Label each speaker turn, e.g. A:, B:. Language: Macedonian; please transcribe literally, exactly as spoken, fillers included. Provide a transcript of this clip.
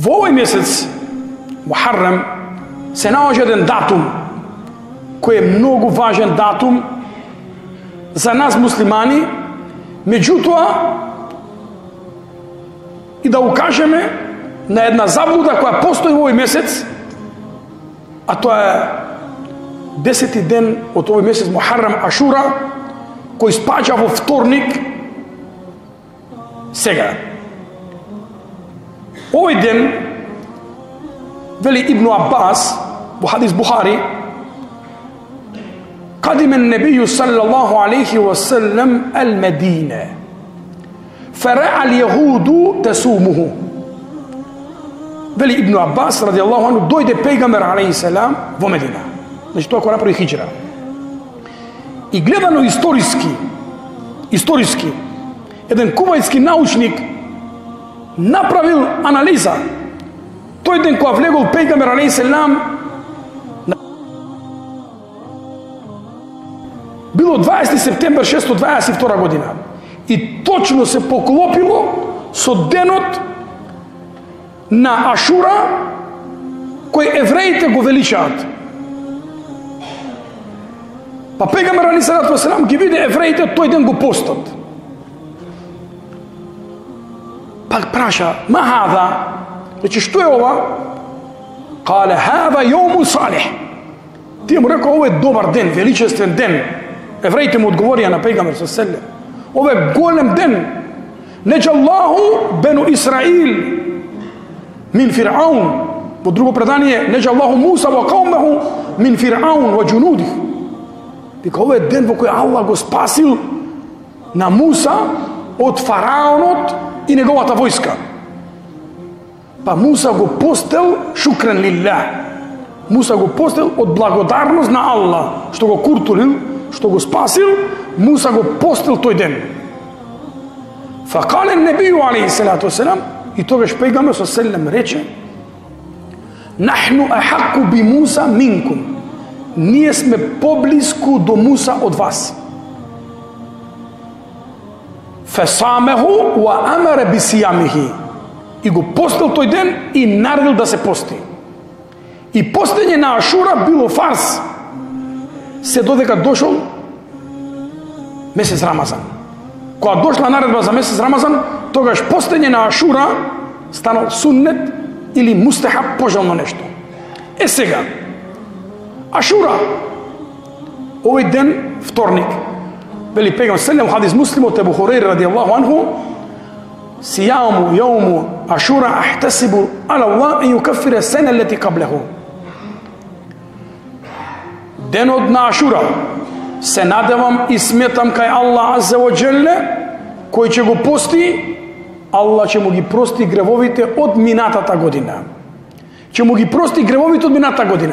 A: Во овој месец, Мухаррам, се наоѓа еден датум, кој е многу важен датум за нас муслимани, меѓутоа и да укажеме на една заблуда која постои во овој месец, а тоа е десети ден од овој месец Мухаррам, Ашура, кој спаѓа во вторник. Сега, овој ден, вели Ибн Аббас во хадис Бухари, قدم النبي صلى الله عليه وسلم المدينة فرأى اليهود تسومه. Вели Ибн Аббас радијаллаху анху, дојде пејгамбер алейхи селам во Медина. Значи тоа кога направи хиџра. И гледано историски, историски, еден кувајтски научник направил анализа. Тој ден кога влегол пејгамбер алейхи селам, било дваесети септември шестстотини дваесет и втора година. И точно се поклопило со денот на Ашура, кој евреите го величаат. Па пејгамбер алейхи селам ги виде евреите тој ден го постат. Па праша, ма хада? Рече, што е ова? Кале, хада јоуму салих. Тие му рекоа, ова е добар ден, величествен ден. Евреите му одговорија на пејгамбер селем. Ова е голем ден. Неџаллаху бену Исраил мин Фир'аун. Во друго предание, неџаллаху Муса ва каумеху мин Фир'аун ва џунудих. Вика, ова е ден во кој Аллах го спасил на Муса од фараонот и неговата војска. Па Муса го постел шукран лилlah. Муса го постел од благодарност на Аллах, што го куртулил, што го спасил. Муса го постел тој ден. Факале небiju алейхи салату васелам, и тогаш пејгамбер со селем рече, нахну ахакку би Муса минкум. Ние сме поблиску до Муса од вас. Фасамеху ва амара би сиямихи. И го постел тој ден и наредил да се пости. И постење на Ашура било фарс, се додека дошол месец Рамазан. Кога дошла наредба за месец Рамазан, тогаш постење на Ашура станал суннет или мустахаб, пожелно нешто. Е сега, Ашура, овој ден, вторник, вели пејгамбер селем хадис Муслим од Абу Хурайра радијаллаху анху, сияму јауму Ашура ахтасибу ала Аллах ан юкаффира сена лети каблеху. Денот на Ашура се надевам и сметам кај Аллах азза ва џелле, кој ќе го пости, Аллах ќе му ги прости гревовите од минатата година. Ќе му ги прости гревовите од минатата година.